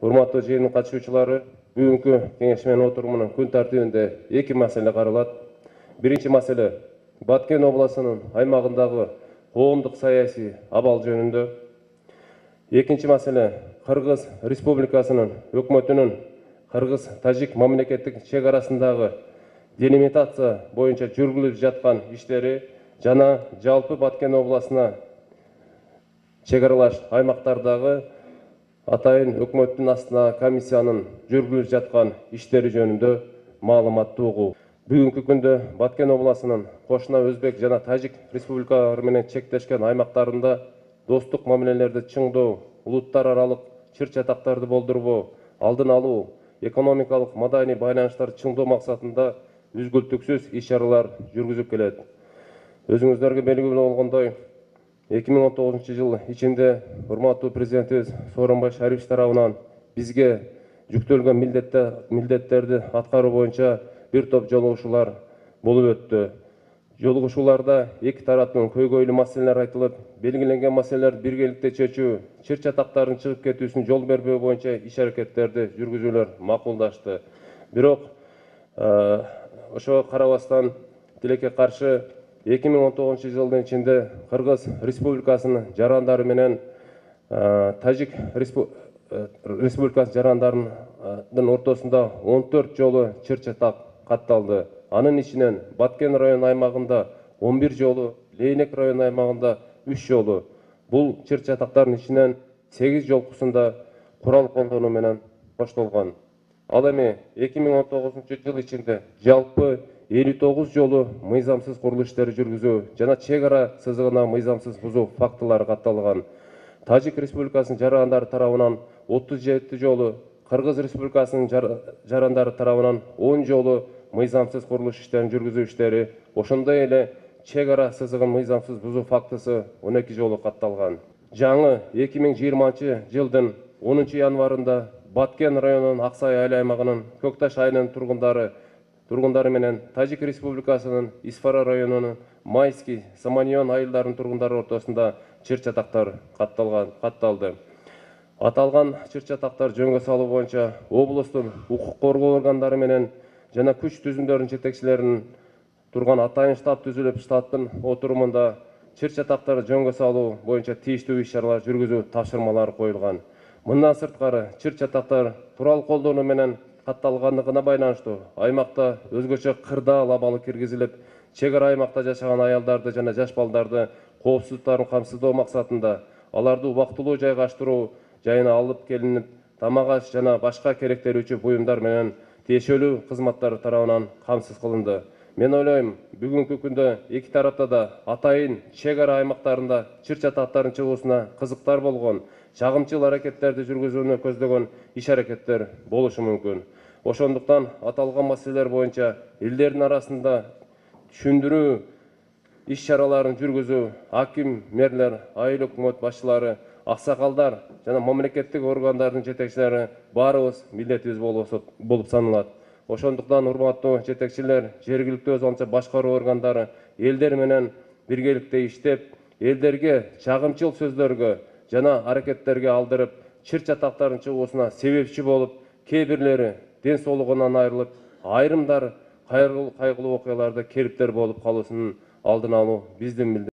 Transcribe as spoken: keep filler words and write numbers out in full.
Урматтуу жыйындын катышуучулары, бүгүнкү кеңешменин отурумунун күн тартибинде эки маселе каралат. Биринчи маселе Баткен областынын аймагындагы коомдук саясий абал жөнүндө. Экинчи маселе Кыргыз Республикасынын өкмөтүнүн Кыргыз-Тажик мамлекеттик чек арасындагы делимитация боюнча жүргүзүлүп жаткан иштери жана жалпы Баткен областына чек аралаш аймактардагы атайын өкмөттүн астына комиссиянын жүргүзүлүп жаткан иштери жөнүндө маалыматты угуу. Бүгүнкү күндө Баткен областынын кошуна Өзбек жана Тажик республикалары менен чектешкен аймактарында достук мамилелерди чыңдоо, улуттар аралык чыр-чатактарды болдурбоо, алдын алуу, экономикалык маданий байланыштарды чыңдоо максатында үзгүлтүксүз иш-чаралар жүргүзүп келет. Өзүңүздөргө белгилүү болгондой, эки миң он тогузунчу жыл ичинде урматтуу президентибиз Сооронбай Шарипович тарабынан бизге жүктөлгөн милдеттерди аткаруу боюнча бир топ жолугушуулар болуп өттү. Жолугушууларда эки тараптын көйгөйлүү маселелер айтылып, белгиленген маселелерди биргеликте чечүү, чыр-чатактардын чыгып кетүүсүнө жол бербөө боюнча иш-аракеттерди жүргүзүүлөр макулдашты. Бирок ошого карабастан тилекке каршы эки миң он тогузунчу жылдын ичинде Кыргыз Республикасынын жарандары менен Тажик Республикасынын жарандарынын ортосунда он төрт жолу чыр-чатак катталды. Анын ичинен Баткен району аймагында он бир жолу, Лейнек району аймагында үч жолу. Бул чыр-чатактардын ичинен сегиз жолкусунда курал колдонуу менен коштолгон. Ал эми эки миң он тогузунчу жыл ичинде жалпы элүү тогуз жолу мыйзамсыз курулуш иштери жүргүзүү жана чек ара сызыгына мыйзамсыз бузуу фактылары катталган. Тажик Республикасынын жарандары тарабынан отуз жети жолу, Кыргыз Республикасынын жарандары тарабынан он жолу мыйзамсыз курулуш иштерин жүргүзүү иштери, ошондой эле чек ара сызыгын мыйзамсыз бузуу фактысы он эки жолу катталган. Жаңы эки миң жыйырманчы жылдын онунчу январында Баткен районунун Аксай айыл аймагынын Көкташ айылынын тургундары тургундары менен Тажик Республикасынын Исфара районунун Майский, Саманьон айылдарынын тургундары ортосунда чыр-чатактар катталган катталды. Аталган чыр-чатактар жөнгө салуу боюнча облустун укук коргоо органдары менен жана күч түзүмдөрүнүн жетекчилеринин турган атайын штаб түзүлүп, штабтын отурумунда чыр-чатактарды жөнгө салуу боюнча тийиштүү иш-чаралар жүргүзүү тапшырмалары коюлган. Мындан сырткары чыр-чатактар курал колдонуу менен катталгандыгына байланыштуу аймакта өзгөчө кырдаал абалы киргизилип, чек ара аймакта жашаган аялдарды жана жаш балдарды коопсуздуктарын камсыздоо максатында аларды убактылуу жайгаштыруу жайына алып келинип, тамак аш жана башка керектелүүчү буюмдар менен тиешелүү кызматтар тарабынан камсыз кылынды. Мен ойлойм, бүгүнкү күндө эки тарапта да атайын чек ара аймактарында чыр-чатактардын чыгуусуна кызыктар болгон, чагымчыл аракеттерди жүргүзүүнү көздөгөн иш-аракеттер болушу мүмкүн. Ошондуктан аталган маселелер боюнча элдердин арасында түшүндүрүү иш-чараларын жүргүзүү аким, мэрлер, айыл өкмөт башчылары, аксакалдар жана мамлекеттик органдардын жетекчилери баарыбыз милдетибиз болуп саналат. Ошондуктан урматтуу жетекчилер, жергиликтүү өз алынча башкаруу органдары элдер менен биргеликте иштеп, элдерге чагымчыл сөздөргө жана аракеттерге алдырып, чыр-чатактардын чыгуусуна себепчи болуп, кээ бирлери ден соолугунан айрылып, айрымдар кайгылуу окуяларда кериптер болуп калуусунун алдын алуу биздин